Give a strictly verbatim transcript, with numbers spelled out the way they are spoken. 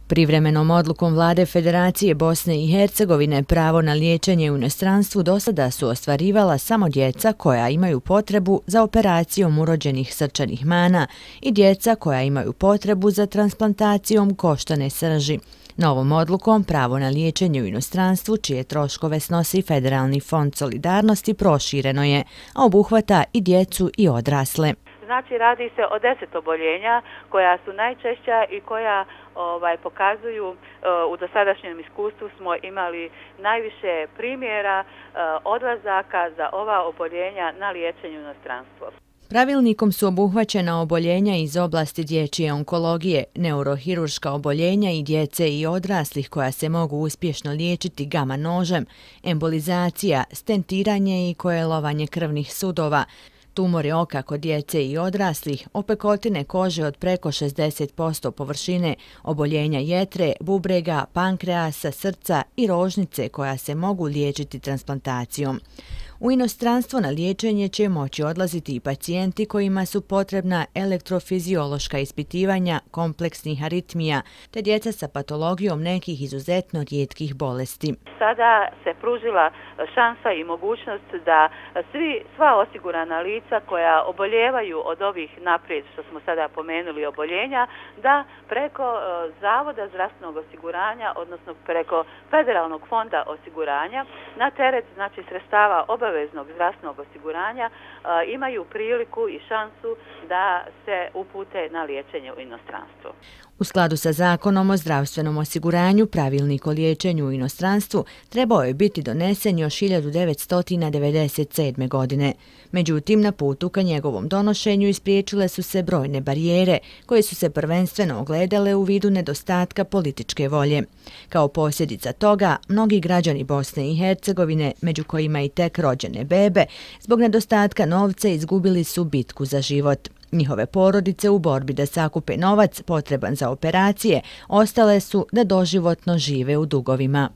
Privremenom odlukom Vlade Federacije Bosne i Hercegovine pravo na liječenje u inostranstvu dosada su ostvarivala samo djeca koja imaju potrebu za operacijom urođenih srčanih mana i djeca koja imaju potrebu za transplantacijom koštane srži. Novom odlukom pravo na liječenje u inostranstvu, čije troškove snosi Federalni fond solidarnosti, prošireno je, a obuhvata i djecu i odrasle. Znači, radi se o deset oboljenja koja su najčešća i koja ovaj, pokazuju, uh, u dosadašnjem iskustvu smo imali najviše primjera uh, odlazaka za ova oboljenja na liječenje u inostranstvo. Pravilnikom su obuhvaćena oboljenja iz oblasti dječje onkologije, neurohirurška oboljenja i djece i odraslih koja se mogu uspješno liječiti gama nožem, embolizacija, stentiranje i kojelovanje krvnih sudova, tumori oka kod djece i odraslih, opekotine kože od preko šezdeset posto površine, oboljenja jetre, bubrega, pankreasa, srca i rožnice koja se mogu liječiti transplantacijom. U inostranstvo na liječenje će moći odlaziti i pacijenti kojima su potrebna elektrofiziološka ispitivanja kompleksnih aritmija, te djeca sa patologijom nekih izuzetno rijetkih bolesti. Sada se pružila šansa i mogućnost da svi, sva osigurana lica koja oboljevaju od ovih naprijed, što smo sada pomenuli, oboljenja, da preko Zavoda zdravstvenog osiguranja, odnosno preko Federalnog fonda osiguranja, na teret znači sredstava obaveznog zdravstvenog osiguranja imaju priliku i šansu da se upute na liječenje u inostranstvo. U skladu sa Zakonom o zdravstvenom osiguranju, pravilnik o liječenju u inostranstvu trebao je biti donesen još hiljadu devetsto devedeset sedme. godine. Međutim, na putu ka njegovom donošenju ispriječile su se brojne barijere, koje su se prvenstveno ogledale u vidu nedostatka političke volje. Kao posljedica toga, mnogi građani Bosne i Hercegovine, među kojima i tek rođene bebe, zbog nedostatka novca izgubili su bitku za život. Njihove porodice u borbi da sakupe novac potreban za operacije ostale su da doživotno žive u dugovima.